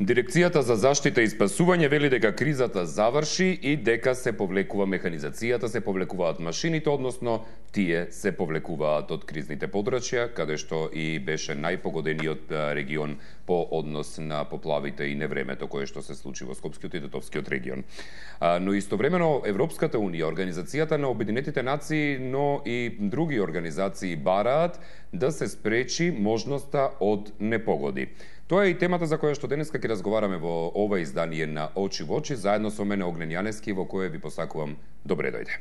Дирекцијата за заштита и спасување вели дека кризата заврши и дека се повлекува механизацијата, се повлекуваат машините, односно тие се повлекуваат од кризните подрачја, каде што и беше најпогодениот регион по однос на поплавите и невремето кое што се случи во Скопскиот и Тетовскиот регион. Но истовремено Европската унија, Организацијата на Обединетите нации, но и други организации бараат да се спречи можноста од непогоди. Тоа е и темата за која што денеска ќе разговараме во ова издание на Очи во очи, заедно со мене Огнен Јаневски, во кое ви посакувам добре дојде.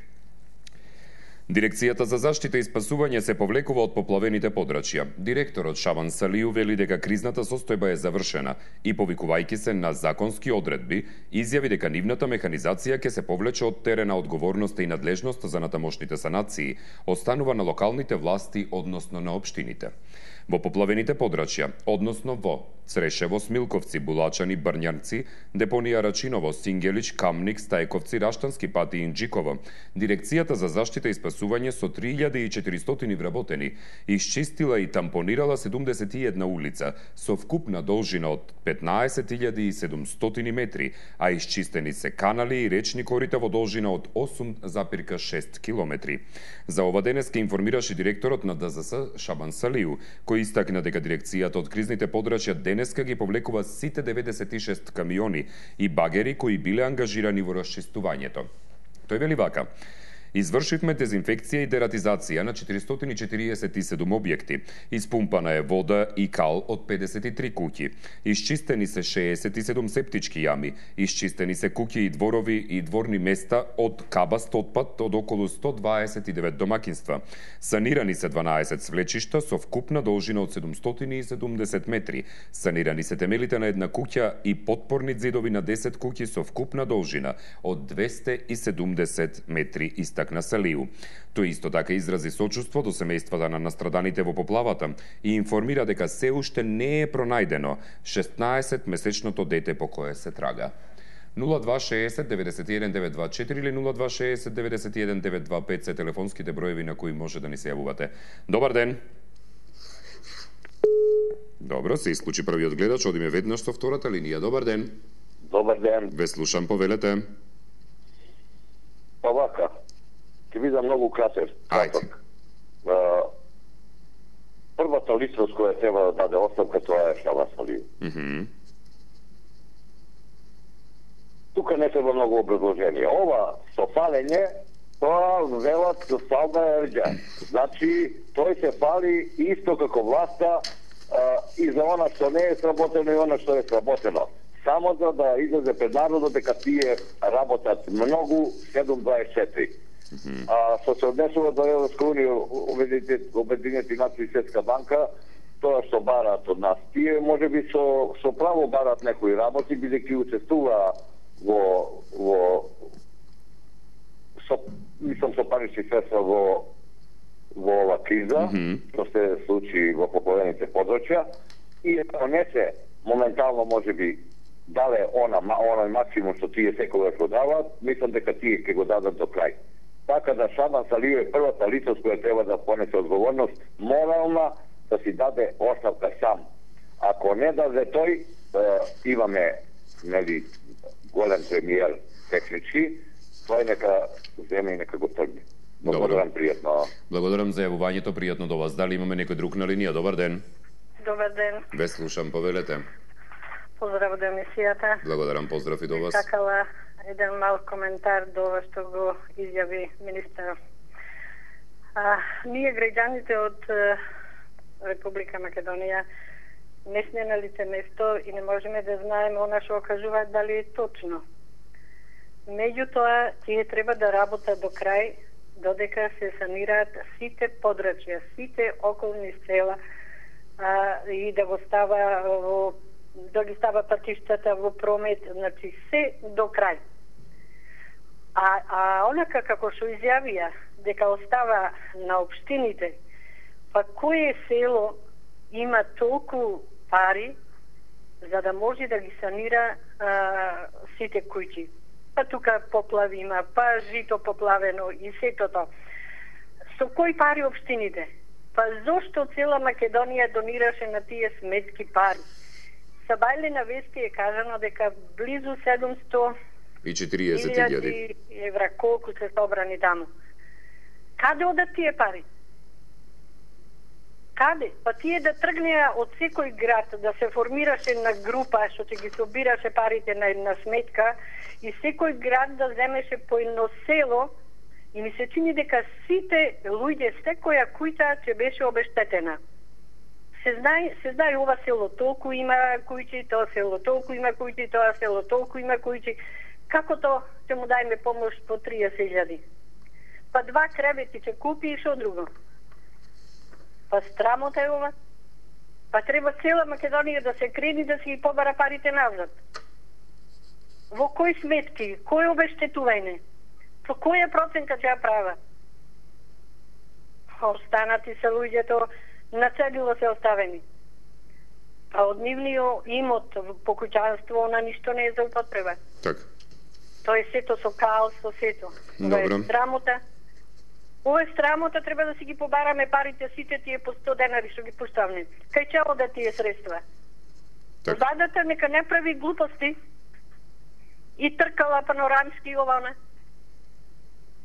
Дирекцијата за заштита и спасување се повлекува од поплавените подрачја. Директорот Шабан Салију вели дека кризната состојба е завршена и, повикувајќи се на законски одредби, изјави дека нивната механизација ќе се повлече од терена одговорноста и надлежност за натамошните санации, останува на локалните власти, односно на општините. Во поплавените подрачја, односно во Црешево, Смилковци, Булачани, Брњанци, Депонија Рачиново, Сингелич, Камник, Стајковци, Раштански пат и Инџиково, Дирекцијата за заштита и спасување со 3400 вработени исчистила и тампонирала 71 улица со вкупна должина од 15.700 метри, а исчистени се канали и речни корита во должина од 8,6 километри. За ова денеска информираше директорот на ДЗС Шабан Салију, кој истакна дека дирекцијата од кризните подрачја денеска ги повлекува сите 96 камиони и багери кои биле ангажирани во расчистувањето. Тој вели вака: извршивме дезинфекција и дератизација на 447 објекти. Испумпана е вода и кал од 53 куќи. Исчистени се 67 септички јами. Исчистени се куќи и дворови и дворни места од кабаст отпад од околу 129 домакинства. Санирани се 12 свлечишта со вкупна должина од 770 метри. Санирани се темелите на една куќа и подпорни зидови на 10 куќи со вкупна должина од 270 метри. На Салију. Тој исто така изрази сочувство до семејствата на настраданите во поплавата и информира дека се уште не е пронајдено 16-месечното дете по кое се трага. 0260 91 924 или 0260 91 925 се телефонските броеви на кои може да ни се јавувате. Добар ден! Добро, се исклучи првиот гледач, одиме веднаш со втората линија. Добар ден! Добар ден! Ве слушам, повелете. Па вака, ќе бидам многу краток. Првата личност која треба да даде оставка, тоа е Шабан Салију. Тука не треба многу образложение. Ова со палење, тоа велат фална ерџа. Значи, тој се пали исто како власта и за она што не е сработено и она што е сработено. Само за да излезе пред народот дека тие работат многу 724. Што се однесува до Европска унија, Обединети нации и Светска банка, тоа што бараат од нас, тие можеби со право бараат некои работи, бидејќи учествува со парични средства во ова криза, што се случи во поплавените подрачја, и ако не се моментално можеби дале оној максимум што тие секогаш го даваат, мислам дека тие ќе го дадат до крај. Така да Шабан Салију е првата личност која треба да понесе одговорност морална да си даде оставка сам. Ако не даде тој, имаме голем премиер технички, тој нека земе и нека го тргне. Благодарам, пријатно. Благодарам за јавувањето, пријатно до вас. Дали имаме некој друг на линија? Добар ден. Добар ден. Ве слушам, повелете. Поздрав до емисијата. Благодарам, поздрав и до вас. Сакала еден мал коментар до ова што го изјави министерот. Ние граѓаните од Република Македонија не сме на лице место и не можеме да знаеме она што кажуваат дали е точно. Меѓутоа, тие треба да работат до крај, додека се санираат сите подрачја, сите околни села и да го става да ги става патиштата во промет, значи се до крај. Онака како што изјавија дека остава на општините, па кое село има толку пари за да може да ги санира сите куќи? Па тука поплави има, па жито поплавено и сето тоа. Со кои пари општините? Па зошто цела Македонија донираше на тие сметски пари? Са бајле на вести е кажано дека близу 740.000 евра колку се собрани таму. Каде одат тие пари? Каде? Па тие да тргнеа од секој град, да се формираше на група, што ќе ги собираше парите на една сметка, и секој град да земеше по едно село, и ми се чини дека сите луѓе, секоја кујта ќе беше обештетена. Се знае ова село толку има кујчи, тоа село толку има кујчи, тоа село толку има кујчи. Како то ќе му дајме помош по 30.000? Па 2 кревети ќе купи и шо друго? Па страмота е ова. Па треба цела Македонија да се крени да си ги побара парите назад. Во кои сметки? Кој обештетување? По која проценка ќе ја права? Останати се луѓето на цедило се оставени. А од нивниот имот по куќанство на ништо не е за употреба. Така. Тоа е сето со каос, со сето. Ова е срамота. Ова е срамота, треба да си ги побараме парите сите тие по 100 денари што ги пуштавме. Кај ќе одат тие средства? Владата нека не прави глупости и тркала панорамски ова,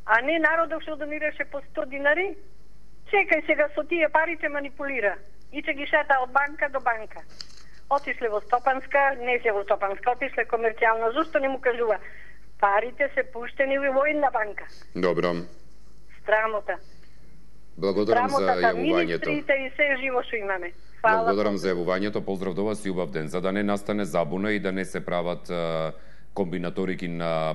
а не народот што донираше по 100 динари. Чекај сега со тие пари ќе манипулира и ќе ги шета од банка до банка. Отишле во Стопанска, не се во Стопанска, отишле комерцијална, зашто не му кажува? Парите се пуштени во една банка. Добро. Страмота. Благодарам за јавувањето. Министрите и се живо што имаме. Фала. Благодарам за јавувањето. Поздрав до вас и убав ден. За да не настане забуна и да не се прават комбинаторики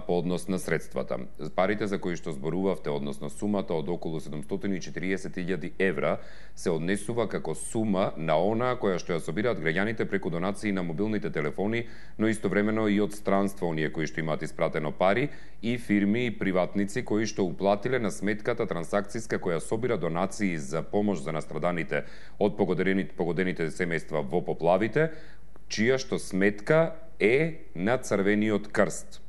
по однос на средствата. Парите за кои што зборувавте, односно сумата од околу 740.000 евра, се однесува како сума на она која што ја собираат граѓаните преку донации на мобилните телефони, но истовремено и од странство оние кои што имаат испратено пари и фирми и приватници кои што уплатиле на сметката трансакцијска која собира донации за помош за настраданите од погодените семејства во поплавите, чија што сметка е на Црвениот крст.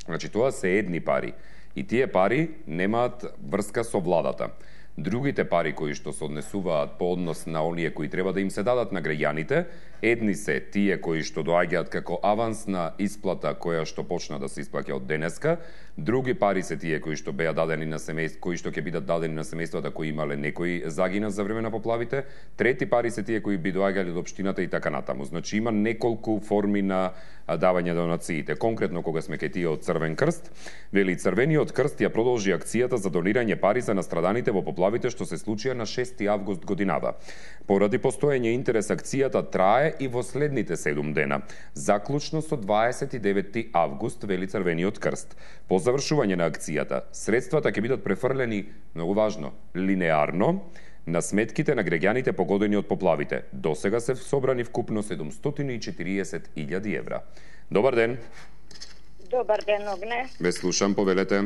Значи, тоа се едни пари. И тие пари немаат врска со владата. Другите пари кои што се однесуваат по однос на оние кои треба да им се дадат на граѓаните, едни се тие кои што доаѓаат како авансна исплата која што почна да се исплаќа од денеска, други пари се тие кои што беа дадени на семејства, кои што ќе бидат дадени на семејствата кои имале некој загина за време на поплавите, трети пари се тие кои би доаѓале од општината и така натаму. Значи има неколку форми на давање донациите. Конкретно кога сме кај тие од Црвен крст, вели Црвениот крст ја продолжи акцијата за донирање пари за настраданите во поплавите што се случија на 6 август годинава. Поради постоење интерес акцијата трае и во следните 7 дена, заклучно со 29 август, вели Црвениот крст. По завршување на акцијата, средствата ќе бидат префрлени, многу важно, линеарно, на сметките на граѓаните погодени од поплавите. До сега се собрани вкупно 740.000 евра. Добар ден. Добар ден, Огне. Ве слушам, повелете.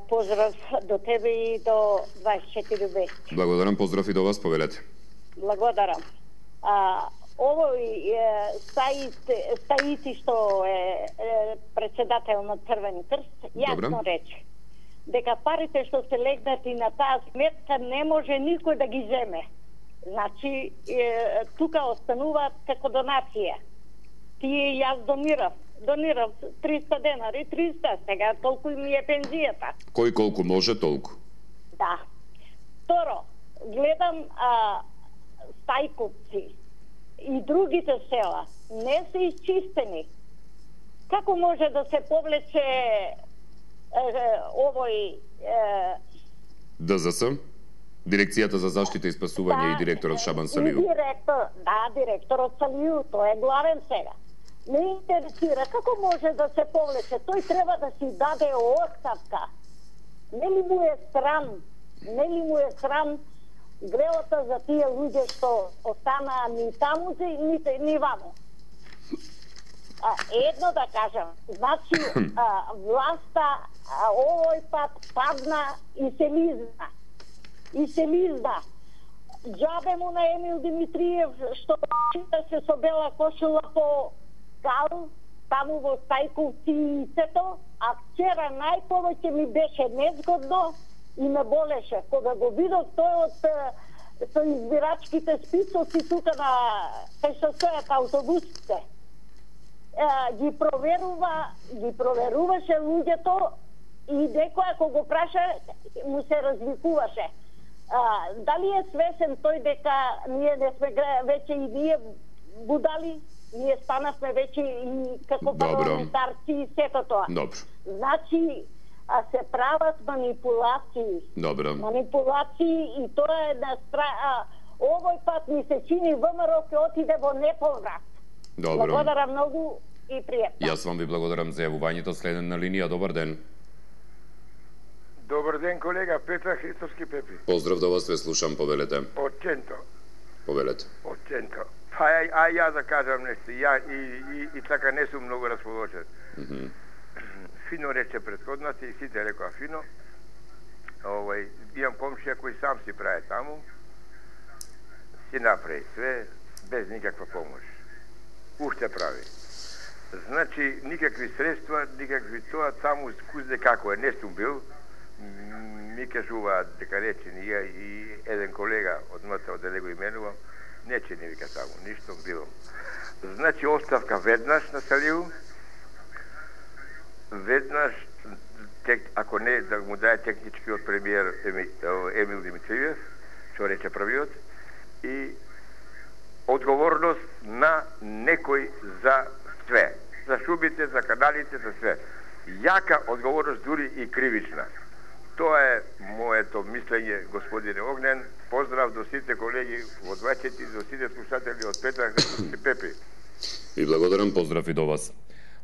Поздрав до тебе и до 24 вести. Благодарам, поздрав и до вас, повелете. Благодарам. Овој Стаици што е председател на Црвен крст, јасно рече дека парите што се легнати на таа сметка не може никој да ги земе. Значи, тука остануваат како донација. Тие јас донирав 300 денари, 300, сега толку ми е пензијата. Кој колку може, толку. Да. Второ, гледам Стајковци и другите села не се исчистени. Како може да се повлече овој ДЗС, Дирекцијата за заштита и спасување, и директорот Шабан Салију? Директорот Салију, тој е главен сега. Не интересира како може да се повлече. Тој треба да си даде оставка. Нели му е срам гревата за тие луѓе што останаа ни таму, ни ваму. Едно да кажам, значи власта овој пат падна и се лизна. Џабе му на Емил Димитриев што се со бела кошула по кал, таму во Стајковци и сето, а вчера најповеќе ми беше незгодно и ме болеше. Кога го видов тој од со избирачките списоци тука на кај што стојат автобусите. Ги проверуваше луѓето и некој ако го праша му се развикуваше. Дали е свесен тој дека ние не сме веќе и ние будали, ние станавме веќе и како парламентарци и сето тоа. Добро. Значи, се прават манипулации. Добро. Манипулации и тоа е на овој пат ми се чини ВМРО ќе отиде во неповрат. Добро. Благодарам многу и пријатно. Јас вам ви благодарам за јавувањето. Следен на линија, добар ден. Добар ден, колега, Петра Христовски Пепи. Поздрав до вас, ве слушам, повелете. Од Ченто. Повелете. Од Ченто. Ја да кажам нешто, ја и така не сум многу расположен. Фино рече претходната и сите рекоа фино. Имам комшија кој сам си прави таму. Си направи све, без никаква помош. Уште прави. Значи, никакви средства, никакви тоа, таму кузде како е, не сум бил. Ми кажуваат дека речени ја и еден колега од МТО, да не го именувам, нече не вика таму, ништо било. Значи, оставка веднаш на Салиу, веднаш, ако не, да му даде техничкиот премиер Емил Димитриев, што рече првиот, и одговорност на некој за све. За шубите, за каналите, за све. Јака одговорност, дури и кривична. Тоа е моето мислење, господине Огнен. Поздрав до сите колеги во 24, до сите слушатели од Петра Христовски Пепи. И благодарам, поздрав и до вас.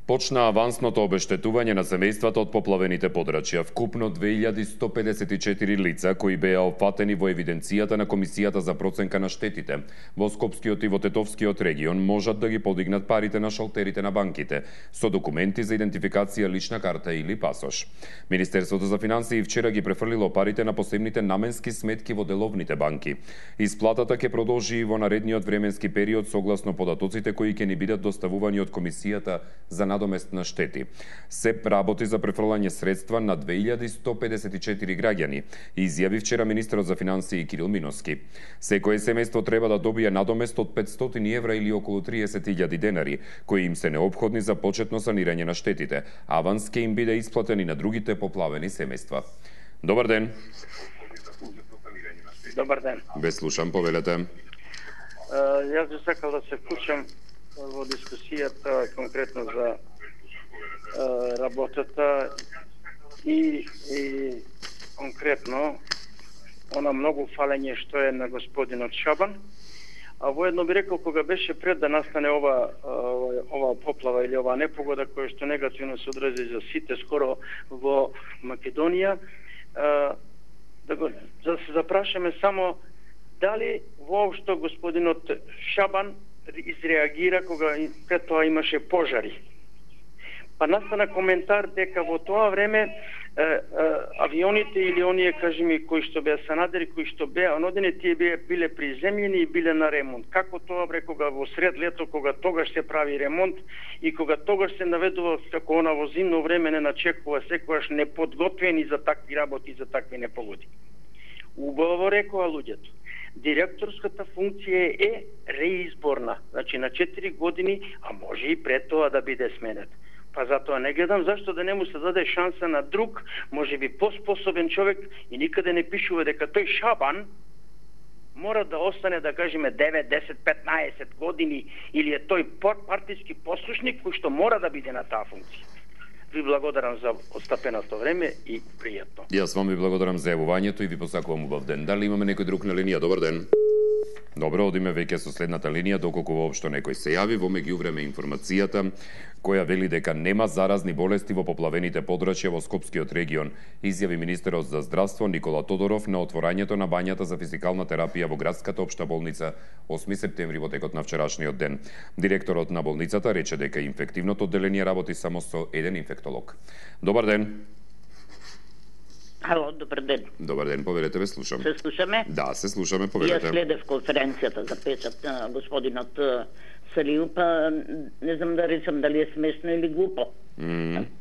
Почна авансното обештетување на семејствата од поплавените подрачја. Вкупно 2154 лица кои беа опфатени во евиденцијата на Комисијата за проценка на штетите во Скопскиот и во Тетовскиот регион можат да ги подигнат парите на шалтерите на банките со документи за идентификација, лична карта или пасош. Министерството за финансии вчера ги префрлило парите на посебните наменски сметки во деловните банки. Исплатата ќе продолжи и во наредниот временски период согласно податоците кои ќе ни бидат доставувани од Комисијата за надомест на штети. СЕП работи за префрлање средства на 2154 граѓани, изјави вчера министерот за финансии Кирил Миноски. Секое семејство треба да добие надомест од 500 евра или околу 30.000 денари, кои им се неопходни за почетно санирање на штетите. Аванс ќе им биде исплатен и на другите поплавени семејства. Добар ден. Добар ден. Ве слушам, повелете. Јас би сакал да се вклучам во дискусијата конкретно за работата и конкретно она многу фалење што е на господинот Шабан. А воедно би рекол, кога беше пред да настане ова поплава или ова непогода која што негативно се одрази за сите скоро во Македонија, да се запрашаме само дали воопшто господинот Шабан изреагира кога пред тоа имаше пожари. Па настана коментар дека во тоа време авионите или оние, кажеме, кои што беа санадери, кои што беа онодене, тие биле приземljeni и биле на ремонт. Како тоа бре, кога во сред лето, кога тогаш се прави ремонт и кога тогаш се наведува како она во зимно време не начекува секогаш неподготвени за такви работи, за такви непогоди. Убаво рекоа луѓето. Директорската функција е реизборна, значи на 4 години, а може и пред тоа да биде сменет. Па затоа не гледам зашто да не му се даде шанса на друг, може би поспособен човек, и никаде не пишува дека тој Шабан мора да остане, да кажеме, 9, 10, 15 години, или е тој партиски послушник кој што мора да биде на таа функција. Ви благодарам за отстапеното време и пријатно. Јас вам ви благодарам за јавувањето и ви посакувам убав ден. Дали имаме некој друг на линија? Добар ден. Добро, одиме веќе со следната линија, доколку воопшто некој се јави. Во меѓувреме информацијата која вели дека нема заразни болести во поплавените подрачја во Скопскиот регион, изјави министерот за здравство Никола Тодоров на отворањето на бањата за физикална терапија во градската општа болница 8 септември во текот на вчерашниот ден. Директорот на болницата рече дека инфективното одделение работи само со еден инфектолог. Добар ден. Ало, добар ден. Добар ден, повелете, ве слушам. Се слушаме? Да, се слушаме, повелете. Ја следев конференцијата за печат на господинот Салиу, па не знам да речам дали е смешно или глупо.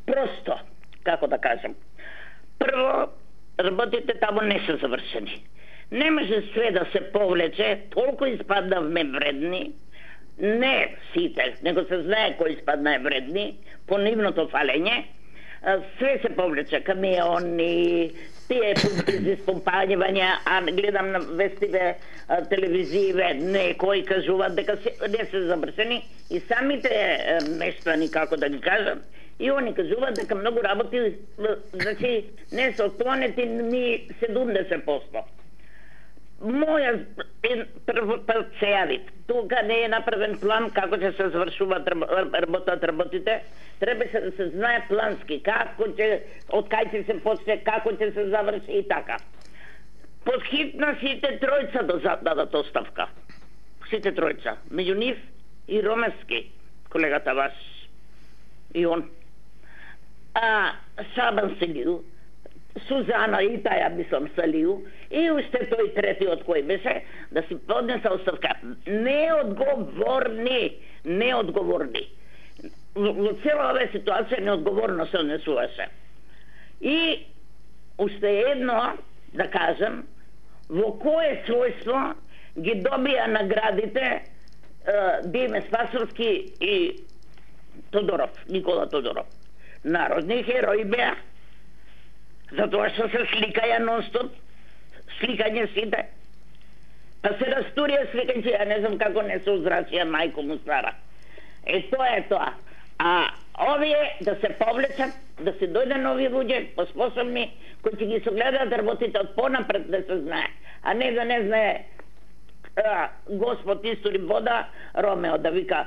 Просто, како да кажам. Прво, работите таму не се завршени. Не може све да се повлече, толку испаднавме вредни, не сите, него се знае кој испадна вредни, по нивното фалење, све се повлече, камиони, тие изпомпањувања, а гледам на вестиве, телевизије, некои кажуваат дека не се завршени и самите мештани, како да ги кажам, и они кажуваат дека многу работи, значи не се отклонети ни 70%. Моја прво се јави, тука не е направен план како ќе се завршуваат работите, треба да се знае плански, како ќе, од кај ќе се почне, како ќе се заврши и така. Под хитна сите тројца да дадат оставка. Сите тројца. Меѓу нив и Ромески, колегата ваш. И он. Шабан Салиу, Сузана и таја мислам Салиу, и уште тој третиот кој беше, да си поднеса оставка. Неодговорни. Во цела оваа ситуација неодговорно се однесуваше. И уште едно, да кажем, во кое својство ги добија наградите Диме Спасовски и Тодоров, Никола Тодоров. Народни херои беа, затоа што се сликаја нон-стоп, сликање сите. Па се растурија сликање, ја не знам како не се озрачија мајко му стара. Тоа е тоа. А овие да се повлечат, да се дојде нови луѓе, поспособни, кои ќе ги согледаат работите од понапред да се знае, а не да не знае Господ истори вода, Ромео да вика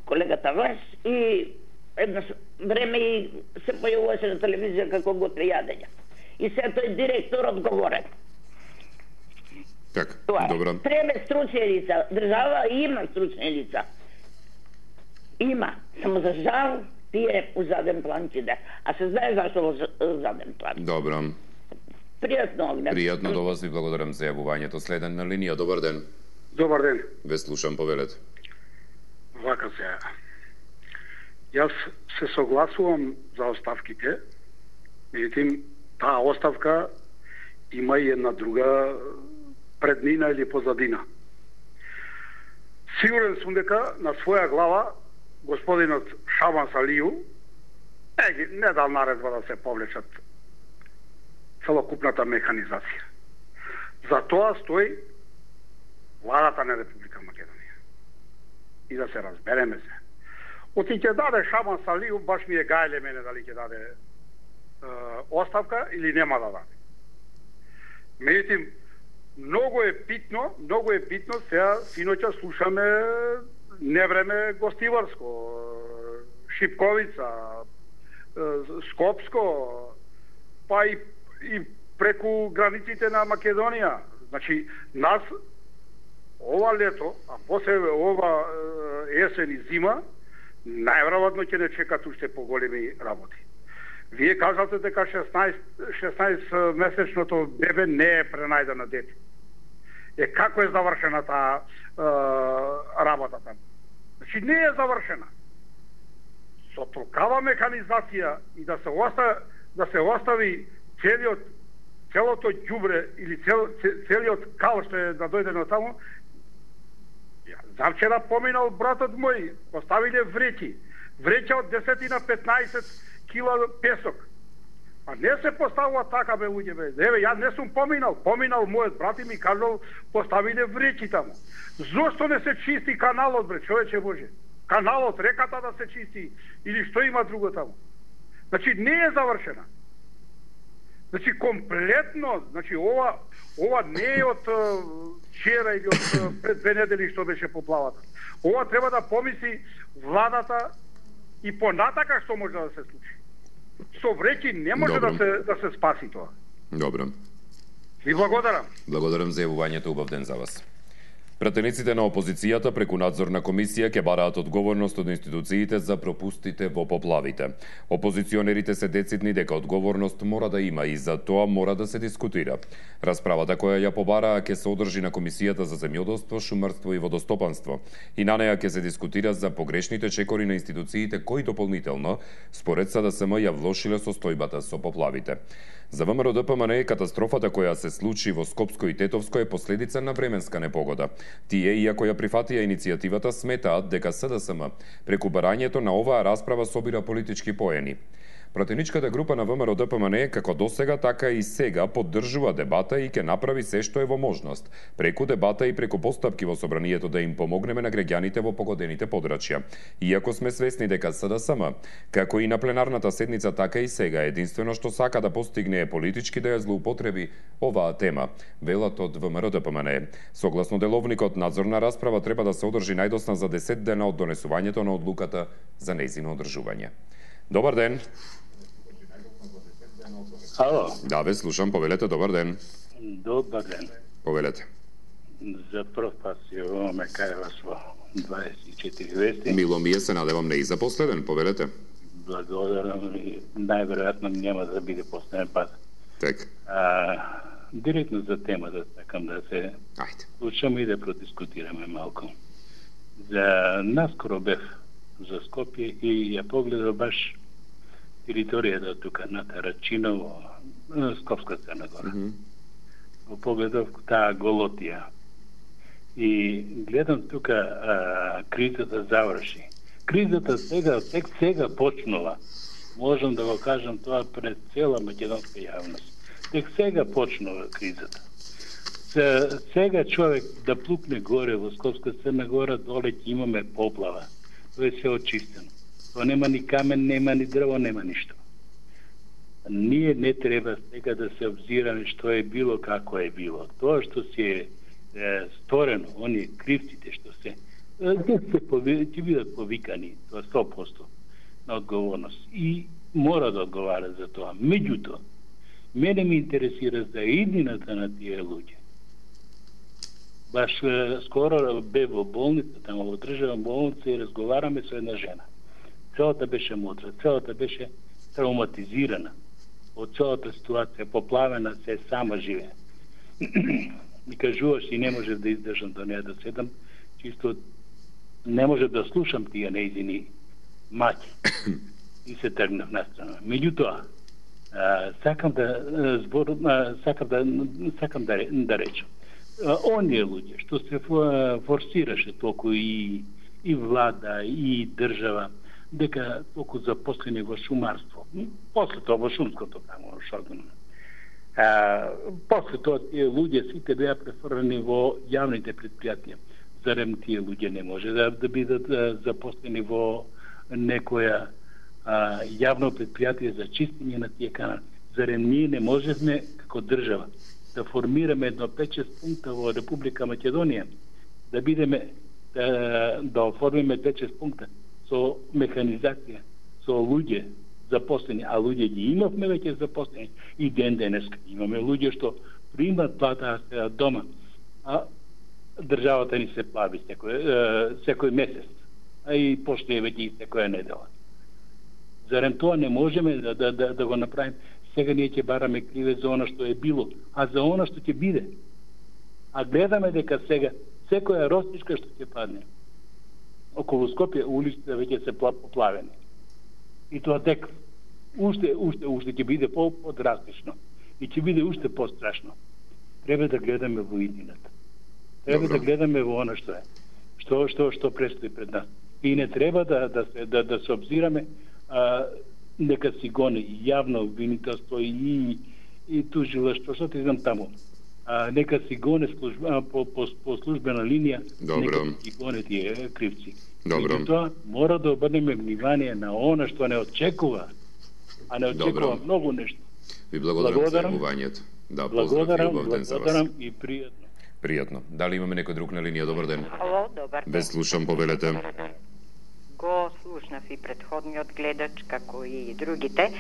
колегата ваш и едно време и се појавуваше на телевизија како готви јадења. И се тој директор одговорен. Така, добро. Треба стручни лица. Држава има стручни лица. Има. Само за жал тие у заден план киде. А се знае зашто во заден план. Добро. Пријатно оглед. Пријатно до вас, ви благодарам за јавувањето. Следен на линија, добар ден. Добар ден. Ве слушам, повелете. Вака се. Јас се согласувам за оставките, меѓутоа таа оставка има и една друга преднина или позадина. Сигурен сум дека на своја глава господинот Шабан Салиу не дал наредба да се повлечат целокупната механизација. За тоа стои владата на Република Македонија. И да се разбереме се. Оти ќе даде Шабан Салиу, баш ми е гајле мене дали ќе даде оставка или нема да даде. Меѓутоа, многу е битно, сега синоќа слушаме Невреме Гостиварско, Шипковица, Скопско, па и преку границите на Македонија. Значи, нас ова лето, а после ова есен и зима, најверојатно ќе не чекат уште поголеми работи. Вие кажате дека 16 месечното бебе не е пренајдено дете. Како е завршена таа работа таму? Значи не е завршена. Со толкава механизација и да се остави целото ѓубре или целиот кал што е да дојде на таму. Завчера поминал братот мој, поставиле вреќа од 10 на 15 кила песок. А не се поставува така, бе, луѓе, бе. Еве, ја не сум поминал мојот брат и ми кажал, поставиле вреќи таму. Зошто не се чисти каналот, бре, човече Боже? Каналот, реката да се чисти, или што има друго таму? Значи, не е завршена. Значи, комплетно, значи, ова не е од вчера или од пред 2 недели што беше поплавата. Ова треба да помисли владата и понатака што може да се случи. Со вреќи не може да се спаси тоа. Добро. Ви благодарам. Благодарам за јавувањето, убав ден за вас. Пратениците на опозицијата преку надзорна комисија ќе бараат одговорност од институциите за пропустите во поплавите. Опозиционерите се децидни дека одговорност мора да има и за тоа мора да се дискутира. Расправата која ја побараа ќе се одржи на Комисијата за земјоделство, шумарство и водостопанство и на неа ќе се дискутира за погрешните чекори на институциите кои дополнително, според СДСМ, ја влошиле состојбата со поплавите. За ВМРО ДПМН катастрофата која се случи во Скопско и Тетовско е последица на временска непогода. Тие, иако ја прифатија иницијативата, сметаат дека СДСМ преку барањето на оваа расправа собира политички поени. Пратеничката група на ВМРО ДПМН како досега, така и сега поддржува дебата и ќе направи се што е во можност, преку дебата и преку постапки во собранието да им помогнеме на граѓаните во погодените подрачја. Иако сме свесни дека СДСМ, како и на пленарната седница, така и сега единствено што сака да постигне е политички да ја злоупотреби оваа тема, велат од ВМРО ДПМН. Согласно деловникот, надзорна расправа треба да се одржи најдосна за 10 дена од донесувањето на одлуката за нејзино одржување. Добар ден. Ало. Да, ве слушам, повелете, добар ден. Добар ден. Повелете. За прв пат се ме кај вас во 24 вести. Мило ми е, се надевам не и за последен, повелете. Благодарам и најверојатно нема да биде последен пат. Так. Директно за темата сакам да се слушам и да продискутираме малку. За наскоро бев за Скопје и ја погледав баш територијата тука на Тарачиново, Скопска Црна Гора. Погледав таа Голотија. И гледам тука кризата заврши. Кризата сега почнува. Можам да го кажам тоа пред цела македонска јавност. Тек сега почнува кризата. Сега човек да плукне горе во Скопска Црна Гора, доле ќе имаме поплава. Тоа е се очистено. Тоа нема ни камен, нема ни дрво, нема ништо. Ние не треба сега да се обзираме што е било, како е било. Тоа што се сторено, оние кривците што се ќе бидат повикани, тоа 100% на одговорност. И мора да одговара за тоа. Меѓутоа, мене ми интересира за иднината на тие луѓе. Баш скоро бе во болница, тамо во државна болница и разговараме со една жена. Целата беше мудра, целата беше травматизирана од целата ситуација, поплавена, се сама живе. И кажуваш и не можев да издржам до неја да седам, чисто не можев да слушам тие нејзини маќи. И се тргнав настрана. Меѓутоа, сакам да речам. Оние луѓе што се форсираше толку и влада, и држава, дека толку запослени во шумарство. После тоа во шумското тамо, шордано. После тоа тие луѓе сите беа префрлени во јавните предпријатија. Зарем тие луѓе не може да бидат запослени во некоја јавно предпријатие за чистење на тие канали? Зарем ние не можевме како држава да формираме едно 5-6 пункта во Република Македонија, да бидеме да оформиме 5-6 пункта со механизација, со луѓе запослени, а луѓе ги имавме веќе запослени и ден денеска имаме луѓе што примат плата дома, а државата ни се плави секој месец, а и пошто е веќе и секоја недела. Зарем тоа не можеме да го направиме? Сега ние ќе бараме криве за она што е било, а за она што ќе биде. А гледаме дека сега секоја ростичка што ќе падне околу Скопје, улиците веќе се поплавени. И тоа тек уште ќе биде подрастично и ќе биде уште пострашно. Треба да гледаме во иднината. Треба да гледаме во она што е. Што престои пред нас. И не треба да се обзираме нека си гони јавно обвинителство и тужилаштво, што ти знам таму. Нека си гоне по службена линија, нека си гоне тие кривци. И тоа мора да обрнеме внимание на она што не очекува, а не очекува многу нешто. Ви благодарам за јавувањето. Да, благодарам и пријатно. Пријатно. Дали имаме некој друг на линија? Добар ден. Ало, добар ден. Ве слушам, повелете. Го слушнав и предходниот гледач, како и другите.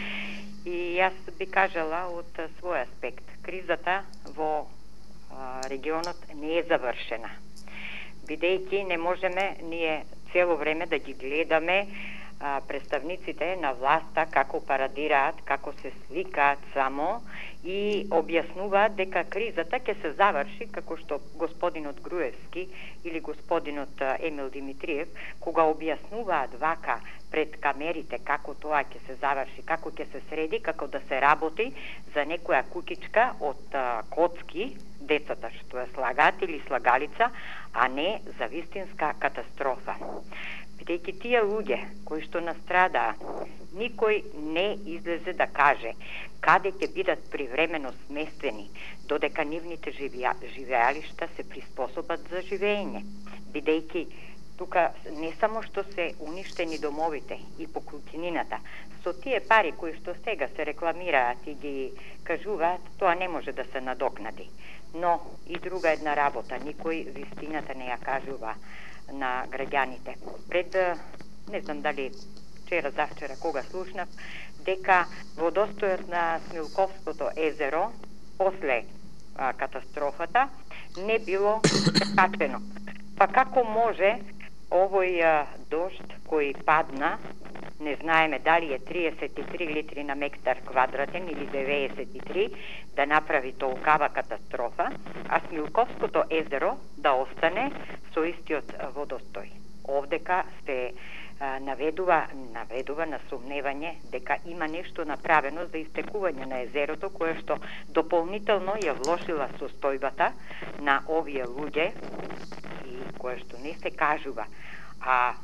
И јас би кажала од свој аспект. Кризата во регионот не е завршена. бидејќи не можеме ние цело време да ги гледаме представниците на власта како парадираат, како се сликаат само и објаснуваат дека кризата ќе се заврши, како што господинот Груевски или господинот Емил Димитриев, кога објаснуваат вака пред камерите како тоа ќе се заврши, како ќе се среди, како да се работи за некоја кукичка од коцки, децата што ја слагаат или слагалица, а не за вистинска катастрофа. Бидејќи тие луѓе кои што настрадаа, никој не излезе да каже каде ќе бидат привремено сместени, додека нивните живеалишта се приспособат за живење. Бидејќи тука не само што се уништени домовите и покрутинината, со тие пари кои што сега се рекламираат и ги кажуваат, тоа не може да се надокнади. Но и друга една работа, никој вистината не ја кажува на граѓаните. Пред, не знам дали завчера кога слушнав, дека водостојот на Смилковското езеро после катастрофата не било качено. Па како може овој дожд кој падна, не знаеме дали е 33 литри на мектар квадратен или 93, да направи толкава катастрофа, а Смилковското езеро да остане со истиот водостој. Овдека се наведува на сумневање дека има нешто направено за истекување на езерото, кое што дополнително ја влошила состојбата на овие луѓе и кое што не се кажува. А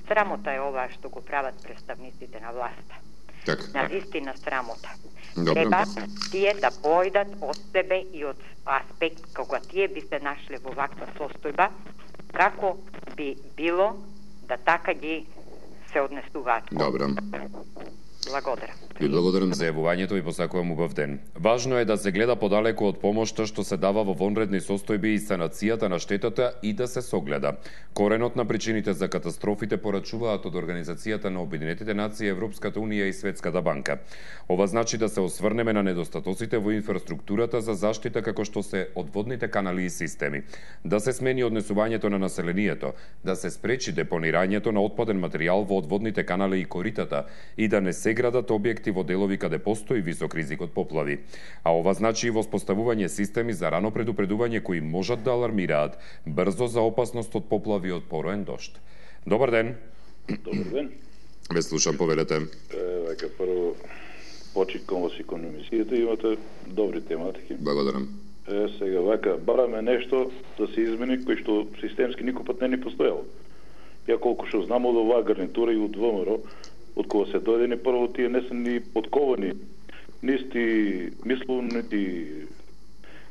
срамота е ова што го прават представниците на власта. На вистина срамота. Треба тие да појдат од себе и од аспект кога тие би се нашле во ваква состојба, како би било да така ги се однесуваат. Добро. Благодарам. Ви благодарам за јавувањето и посакувам убав ден. Важно е да се гледа подалеку од помошта што се дава во вонредни состојби и санацијата на штетата и да се согледа. Коренот на причините за катастрофите порачуваат од Организацијата на Обединетите нации, Европската унија и Светската банка. Ова значи да се осврнеме на недостатоците во инфраструктурата за заштита како што се одводните канали и системи, да се смени однесувањето на населението, да се спречи депонирањето на отпаден материјал во одводните канали и коритата и да не се градат објекти во делови каде постои висок ризик од поплави. А ова значи и воспоставување системи за рано предупредување кои можат да алармираат брзо за опасност од поплави од пороен дожд. Добар ден. Добар ден. Ве слушам, повелете. Вака прво почиткам во економисијата, имате добри тематики. Благодарам. Сега вака бараме нешто да се измени кој што системски никој пат не ни постоело. Ја колку што знам од оваа гарнитура и од ВМРО, од кога се дојдени, прво тие не се ни подковани, нисти мисловно, нити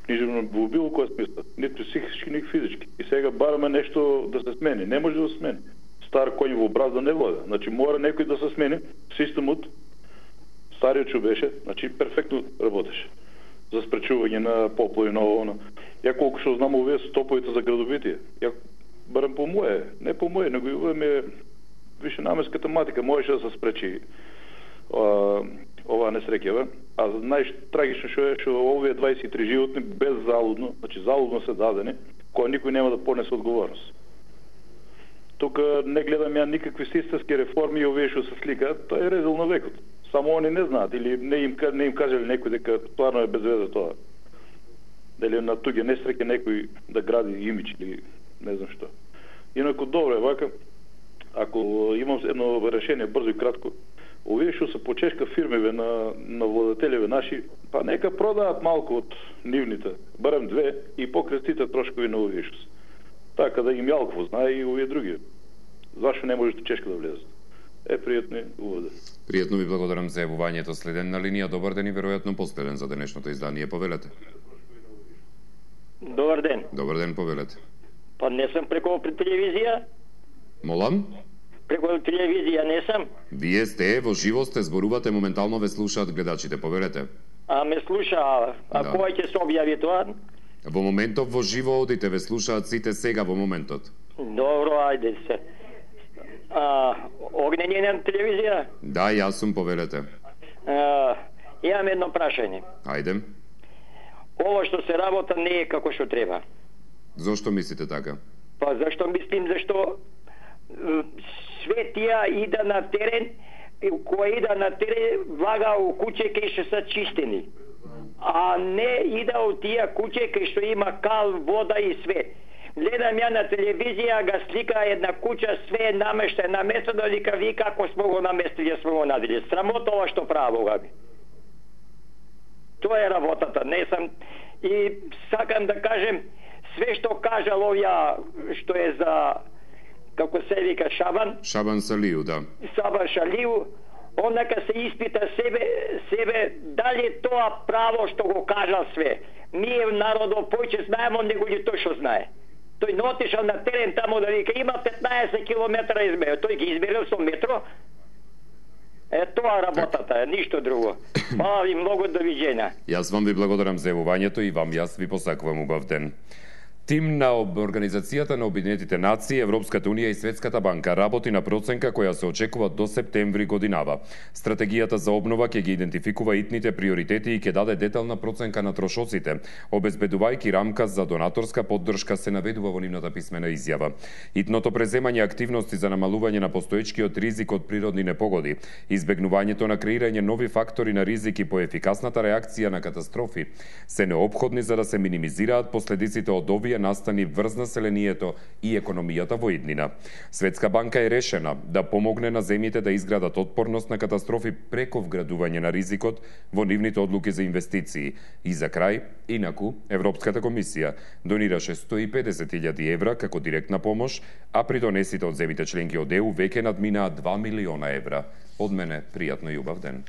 книжевно во било која смисла, нити психички, нити физички. И сега бараме нешто да се смени. Не може да се смени. Стар коњ во бразда не вода. Значи мора некој да се смени. Системот, стариот што беше, значи перфектно работеше за спречување на поплави на ово. Ја колку што знам овие стоповите за градовитие. Ја барам по моје, не по моје, него и овие више наменска тематика можеше да се спречи ова несреќава. А најтрагично што е што овие 23 животни беззалудно, значи залудно се дадени, која никој нема да понесе одговорност. Тука не гледам ја никакви системски реформи и овие што се сликаат, тоа е резул на векот. Само они не знаат или не им кажале некој дека стварно е без веза тоа. Дали на туѓе несреќа некој да гради имидж или не знам што. Инаку добро е вака. Ако имам едно решение брзо и кратко, овие што се почешка фирмиве на владетелеве наши, па нека продаат малку од нивните, барем две, и покрестите трошкови на овие што се. Така да им јалкво знае и овие други. Зашо не можете чешка да влезат? Пријатно и уводе. Пријатно ви благодарам за јавувањето. Следен на линија, добар ден и веројатно последен за денешното издание. Повелете. Добар ден. Добар ден, повелете. Па не сум преку телевизија. Молам? Преку телевизија не сам. Вие сте во живо, сте зборувате, моментално ве слушаат гледачите, повелете. Ме слуша, кој ќе се објави тоа? Во моментов во живо одите, ве слушаат сите сега во моментот. Добро, ајде се. Огнење на телевизија? Да, јас сум, повелете. Имам едно прашање. Ајде. Ова што се работа не е како што треба. Зошто мислите така? Па зашто мислим, зашто све тија ида на терен, кој ида на терен влага у куќе кај што се чистени. А не ида у тија куќе кај што има кал, вода и све. Гледам ја на телевизија, ga слика една куќа, све е намештена, наместено дека ви како смо го наместили, смо го надели. Срамота ова што прави, Бога ми. Тоа е работата, не сам. И сакам да кажем, све што кажал овја, што е за, како се вика, Шабан Салију, да. Шабан Салију, он нека се испита себе дали тоа право што го кажал све. Ние народот појче знаеме, он него тој што знае. Тој не отишал на терен таму да вика има 15 километра измерил. Тој ги измерил со метро. Тоа работата, ништо друго. Хвала ви многу, довиđenja. Јас вам ви благодарам за јавувањето и вам јас ви посакувам убав ден. Тим на Организацијата на Обединетите нации, Европската унија и Светската банка работи на проценка која се очекува до септември годинава. Стратегијата за обнова ќе ги идентификува итните приоритети и ќе даде детална проценка на трошоците, обезбедувајќи рамка за донаторска поддршка, се наведува во нивната писмена изјава. Итното преземање активности за намалување на постоечкиот ризик од природни непогоди, избегнувањето на креирање нови фактори на ризик и поефикасната реакција на катастрофи се неопходни за да се минимизираат последиците од овие настани врз населението и економијата во иднина. Светска банка е решена да помогне на земјите да изградат отпорност на катастрофи преку вградување на ризикот во нивните одлуки за инвестиции. И за крај, инаку, Европската комисија донираше 150.000 евра како директна помош, а придонесите од земјите членки од ЕУ веќе надминаа 2 милиона евра. Од мене, пријатно и убав ден.